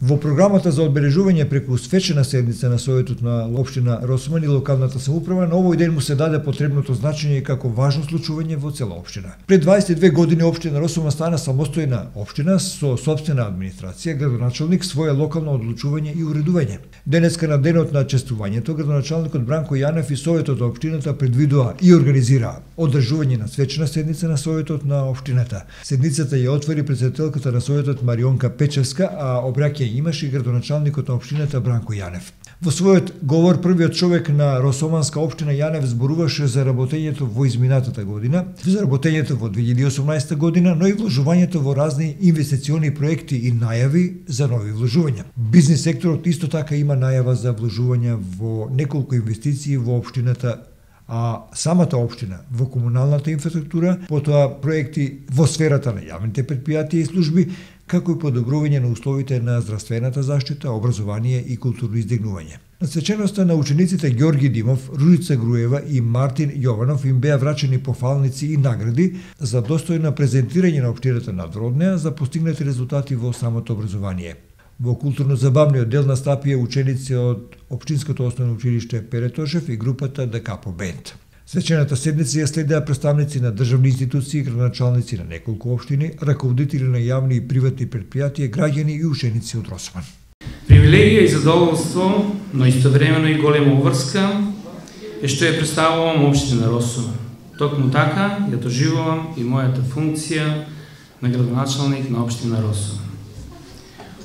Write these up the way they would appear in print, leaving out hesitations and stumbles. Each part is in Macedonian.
Во програмата за одбележување преку свечена седница на Советот на општина Росуман и локалната самоуправа на овој ден му се даде потребното значење како важно случување во цела општина. Пред 22 години општина Росуман стана самостојна општина со сопствена администрација, градоначалник, свое локално одлучување и уредување. Денеска на денот на честувањето, градоначалникот Бранко Јанев и Советот на општината предвидува и организира одржување на свечена седница на Советот на општината. Седницата ја отвори претседателката на Советот Марионка Печевска, а обраќање имаше и градоначалникот на општината Бранко Јанев. Во својот говор првиот човек на Росоманска општина Јанев зборуваше за работењето во изминатата година, за работењето во 2018 година, но и вложувањето во разни инвестициони проекти и најави за нови вложувања. Бизнис секторот исто така има најава за вложувања во неколку инвестиции во општината, а самата општина во комуналната инфраструктура, потоа проекти во сферата на јавните предпријатија и служби, како и подобрување на условите на здравствената заштита, образование и културно издигнување. На свеченоста на учениците Ѓорги Димов, Ружица Груева и Мартин Јованов им беа врачени пофалници и награди за достојно презентирање на општината надвор за постигнати резултати во самото образование. Во културно-забавниот дел настапија ученици од Општинското основно училиште Перетошев и групата Да Капо Бенд. Свечената седница ја следеа представници на државни институции, градоначалници на неколку општини, раководители на јавни и приватни предпријатија, граѓани и ученици од Росман. Привилегија и задоволство, но истовремено и голема уврска е што ја представувам општина Росман. Токму така ја доживувам и мојата функција на градоначалник на општина Росман.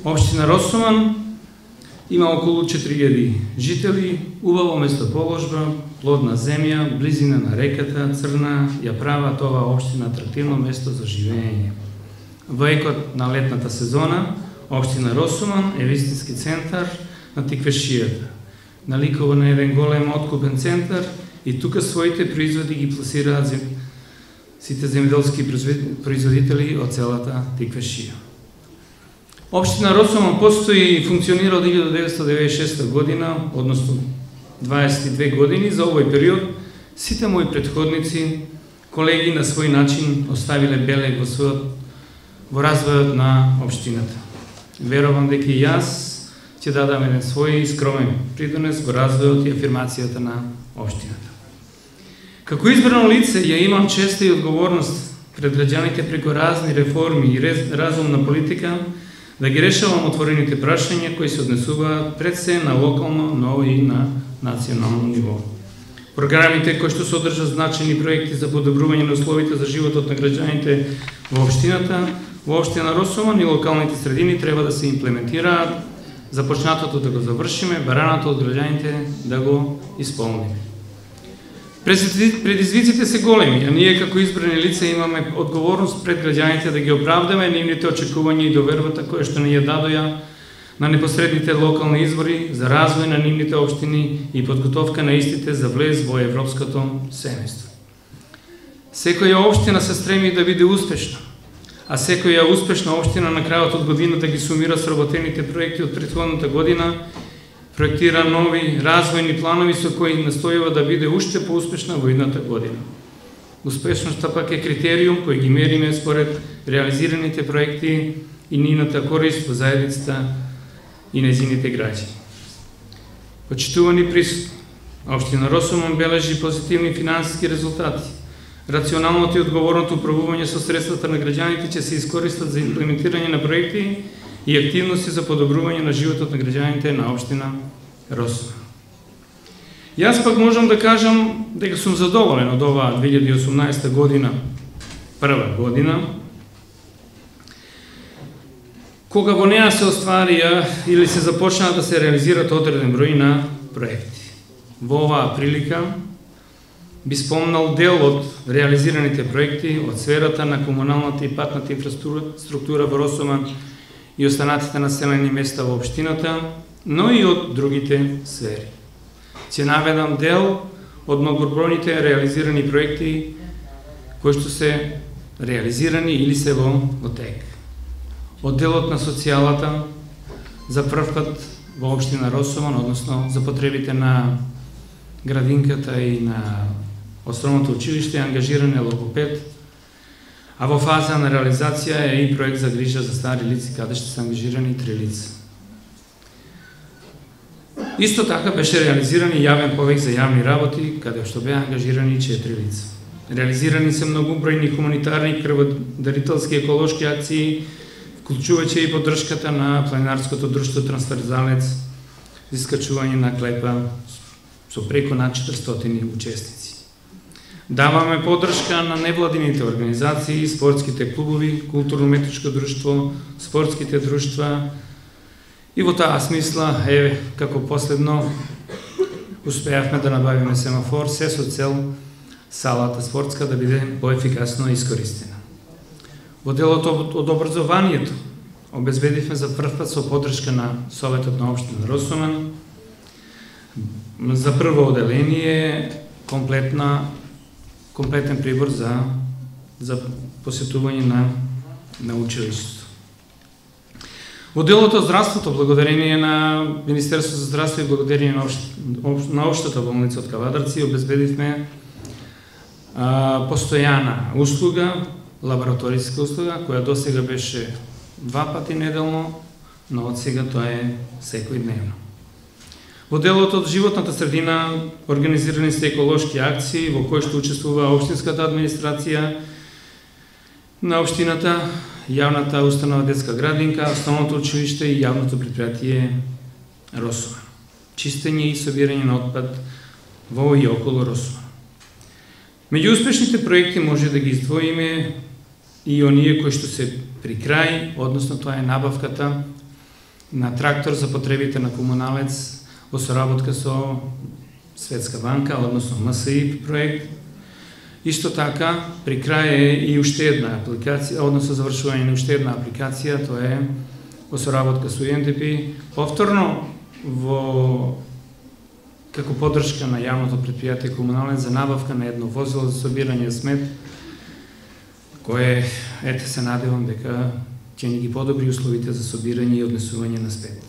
Општина Росуман има околу 4000 жители, убаво местоположба, плодна земја, близина на реката Црна ја прават оваа општина атрактивно место за живење. Во екот на летната сезона, општина Росуман е вистински центар на тиквешијата. Наликува на еден голем откупен центар и тука своите производи ги пласираат сите земјоделски производители од целата тиквешија. Општина Росуман постои и функционира од 1996 година, односно 22 години. За овој период сите мои претходници, колеги на свој начин оставиле белег во развојот на општината. Верувам дека и јас ќе дадам еден свој скромен придонес во развојот и афирмацијата на општината. Како избрано лице ја имам честа и одговорност пред граѓаните преку разни реформи и разумна политика да ги решавам отворените прашања кои се однесуваат пред се на локално, но и на национално ниво. Програмите кои што содржат значајни проекти за подобрување на условите за животот на граѓаните во општината, во општина Росуман и локалните средини треба да се имплементираат, започнатото да го завршиме, бараното од граѓаните да го исполниме. Предизвиците се големи, а ние како избрани лица имаме одговорност пред граѓаните да ги оправдаме нивните очекувања и довербата која што ни ја дадоја на непосредните локални избори за развој на нивните општини и подготовка на истите за влез во европското семејство. Секоја општина се стреми да биде успешна, а секоја успешна општина на крајот од годината ги сумира сработените проекти од претходната година, проектира нови развојни планови со кои настојува да биде уште поуспешна во идната година. Успешноста пак е критериум кој ги мериме според реализираните проекти и нивната корист во заедницата и нејзините граѓани. Почитувани присутни, општина Росуман бележи позитивни финансиски резултати. Рационалното и одговорното управување со средствата на граѓаните ќе се искористат за имплементирање на проекти и активности за подобрување на животот на граѓаните на општина Росуман. Јас пак можам да кажам дека сум задоволен од оваа 2018 година, прва година, кога во неа се остварија или се започнаа да се реализираат одреден број на проекти. Во оваа прилика би спомнал дел од реализираните проекти од сферата на комуналната и патната инфраструктура во Росуман и останатите населени места во општината, но и од другите сфери. Ќе наведам дел од многобројните реализирани проекти кои што се реализирани или се во тек. Од делот на социјалата за прв пат во општина Росуман, односно за потребите на градинката и на основното училиште е ангажиран е логопед, а во фаза на реализација е и проект за грижа за стари лица, каде ще се ангажирани 3 лица. Исто така беше реализиран и јавен повик за јавни работи, каде што беа ангажирани 4 лица. Реализирани се многобројни хуманитарни, крводарителски, еколошки акции, вклучувачи и поддршката на планинарското друштво Трансверзалец за искачување на клепа со преку над 400 учесници. Даваме поддршка на невладините организации, спортските клубови, културно-уметничко друштво, спортските друштва и во таа смисла, како последно, успеавме да набавиме семафор, се со цел салата спортска да биде поефикасно искористена. Во делот од образованието обезбедивме за прв пат со поддршка на Советот на општина Росуман за прво оделение комплетен прибор за посетување на училиштето. Во делот од здравството, благодарение на Министерството за здравство и благодарение на општата болница од Кавадарци, обезбедивме постојана услуга, лабораториска услуга, која досега беше 2 пати неделно, но од сега тоа е секојдневно. Во делот од животната средина организирани се еколошки акции во кои што учествува општинската администрација на општината, јавната установа детска градинка, основното училиште и јавното предпријатие Росуман. Чистење и собирање на отпад во и околу Росуман. Меѓу успешните проекти може да ги издвоиме и оние кои што се при крај, односно тоа е набавката на трактор за потребите на комуналец во соработка со Светска банка, односно МСИ проект. Исто така, при крај е и уште една апликација, односно завршување на уште една апликација, тоа е во соработка со UNDP, повторно како поддршка на јавното предпријатие комуналец за набавка на едно возило за собирање смет, кое, се надевам дека ќе ни ги подобри условите за собирање и однесување на смет.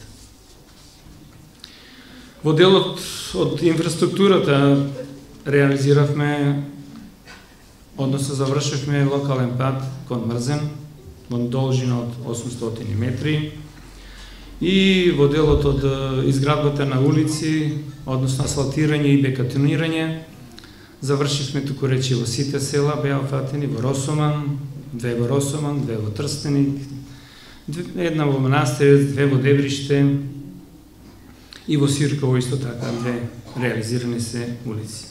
Во делот од инфраструктурата реализиравме, односно завршивме локален пат кон Мрзен, во должина од 800 метри, и во делот од изградбата на улици, односно асфалтирање и бетонирање, завршивме туку речи во сите села, беа офатени во Росуман, 2 во Росуман, 2 во Трстеник, 1 во Манастирец, 2 во Дебриште и во Сирково исто така 2 реализирани се улици.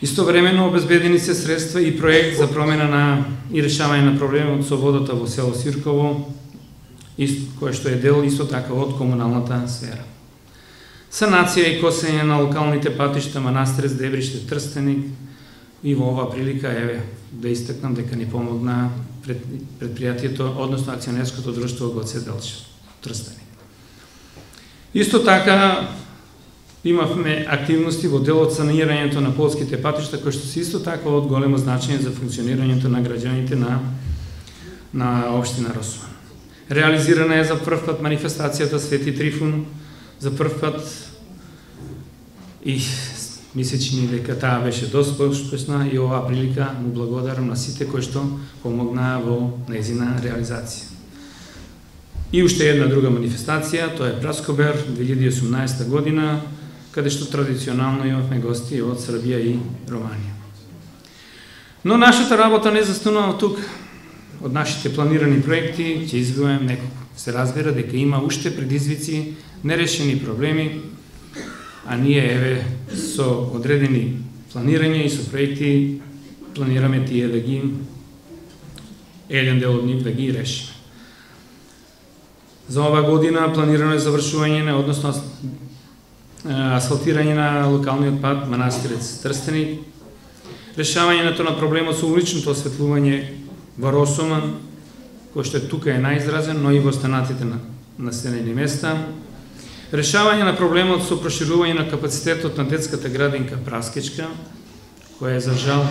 Истовремено обезбедени се средства и проект за промена и решавање на проблемот со водата во село Сирково, кој што е дел исто така од комуналната сфера. Санација и косење на локалните патишта Манастирец, Дебриште, Трстеник, и во оваа прилика да истакнам дека ни помогна предпријатието, односно акционерското друштво Гоце Делчев, Трстеник. Исто така имавме активности во делот санирањето на полските патишта, кои што се исто така од големо значење за функционирањето на граѓаните на општина Росуман. Реализирана е за прв пат манифестацијата Свети Трифун, за прв пат и мислечи дека таа беше доста успешна и оваа прилика му благодарам на сите кои што помогнаа во нејзина реализација. И уште една друга манифестација, тоа е Праскобер 2018 година, каде што традиционално имавме гости од Србија и Романија. Но нашата работа не застанува тук. Од нашите планирани проекти ќе избројам неколку. Се разбира дека има уште предизвици, нерешени проблеми, а ние со одредени планирања и со проекти планираме тие да ги еден дел од нив да ги решиме. За оваа година планирано е завршување на, односно асфалтирање на локалниот пат Манастирец Трстеник, решавањето на проблемот со уличното осветлување во Росуман, кој што тука е најизразен, но и во останатите населени места, решавање на проблемот со проширување на капацитетот на детската градинка Праскечка, која за жал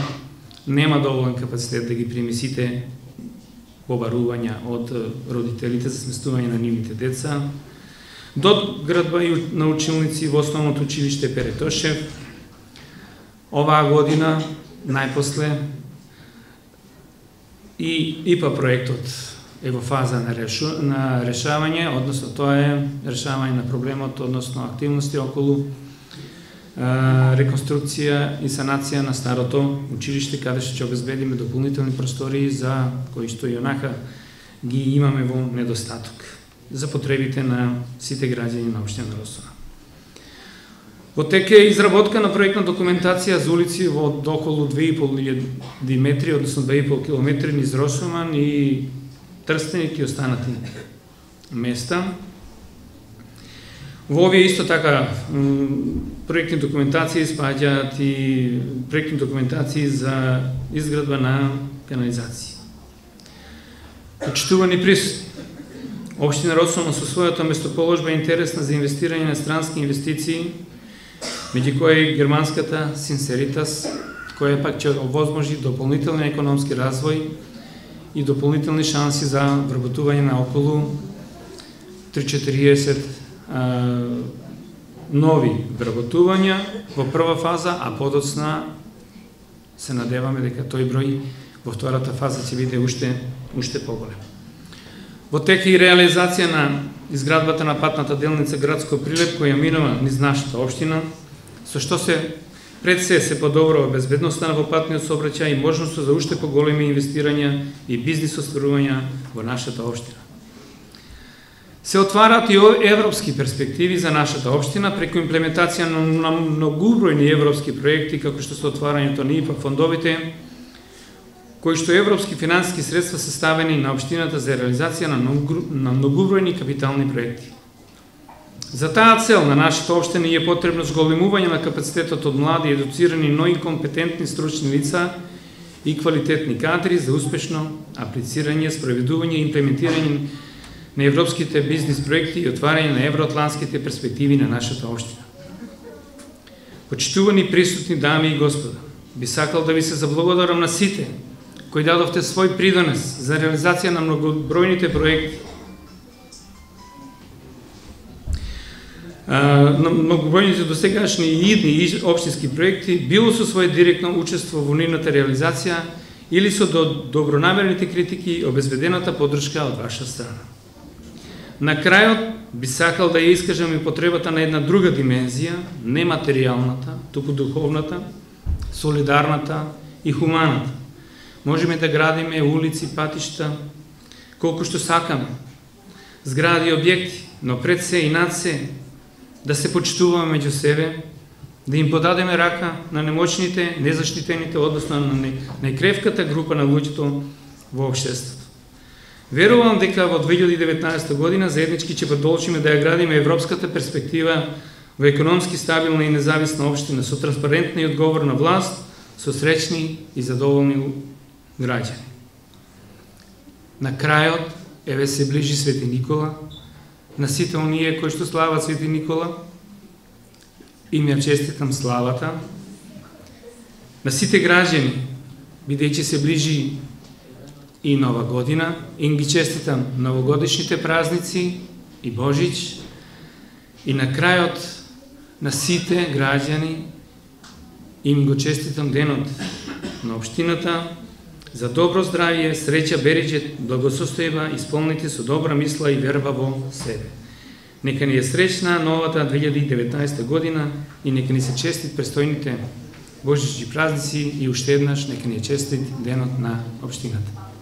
нема доволен капацитет да ги прими сите побарувања од родителите за сместување на нивните деца, доградба на училници во основното училиште Перетошев. Оваа година, најпосле, и ИПА проектот е во фаза на решавање, односно тоа е решавање на проблемот, односно активности околу реконструкција и санација на старото училиште, каде ќе обезбедиме дополнителни простории за кои што и онака ги имаме во недостаток за потребите на сите граѓани на општина Росума. Во тек е изработка на проектна документација за улици во околу 2500 метри, односно 2,5 километри низ Росуман и Трстеник и останати места. Во овие исто така проектни документации спаѓаат и проектни документации за изградба на канализација. Почитувани присутни, општина Росума со својата местоположба е интересна за инвестирање на странски инвестиции, меѓу кои германската Синсеритас, која пак ќе овозможи дополнителен економски развој и дополнителни шанси за вработување на околу 340 нови вработувања во прва фаза, а подоцна се надеваме дека тој број во втората фаза ќе биде уште поголем. Во тек и реализација на изградбата на патната делница Градско Прилеп, која минува низ нашата општина, со што пред се подобрува безбедноста во патниот сообраќај и можноста за уште поголеми инвестирања и бизнис остварувања во нашата општина. Се отвараат и европски перспективи за нашата општина преку имплементација на многубројни европски проекти, како што се отварањето на ИПА фондовите, кои што европски финансиски средства се ставени на општината за реализација на многубројни капитални проекти. За таа цел на нашата општина е потребно зголемување на капацитетот од млади, едуцирани, но и компетентни стручни лица и квалитетни кадри за успешно аплицирање, спроведување и имплементирање на европските бизнис проекти и отварање на евроатлантските перспективи на нашата општина. Почитувани присутни дами и господа, би сакал да ви се заблагодарам на сите кои дадовте свој придонес за реализација на многобројните проекти, на многобројните досегашни и идни општински проекти, било со своје директно учество во нивната реализација или со добронамерните критики и обезбедената поддршка од ваша страна. На крајот би сакал да ја искажам и потребата на една друга димензија, не материјалната, туку духовната, солидарната и хуманата. Можеме да градиме улици, патишта, колку што сакаме, згради и објекти, но пред се и над се да се почитуваме меѓу себе, да им подадеме рака на немочните, незаштитените, односно на најкревката група на луѓето во општеството. Верувам дека во 2019 година заеднички ќе продолжиме да ја градиме европската перспектива во економски стабилна и независна општина со транспарентна и одговорна власт, со среќни и задоволни граѓани. На крајот, еве се ближи Свети Никола, на сите оние кои што слават Свети Никола, им ја честитам славата. На сите граѓани, бидејќи се ближи и Нова година, им ги честитам новогодишните празници и Божич. И на крајот, на сите граѓани, им го честитам денот на општината, за добро здравје, среќа, бериџет, благосостојба, исполнити со добра мисла и верба во себе. Нека ни е среќна новата 2019 година и нека ни се честит престојните Божички празници и уште еднаш нека ни е честит денот на општината.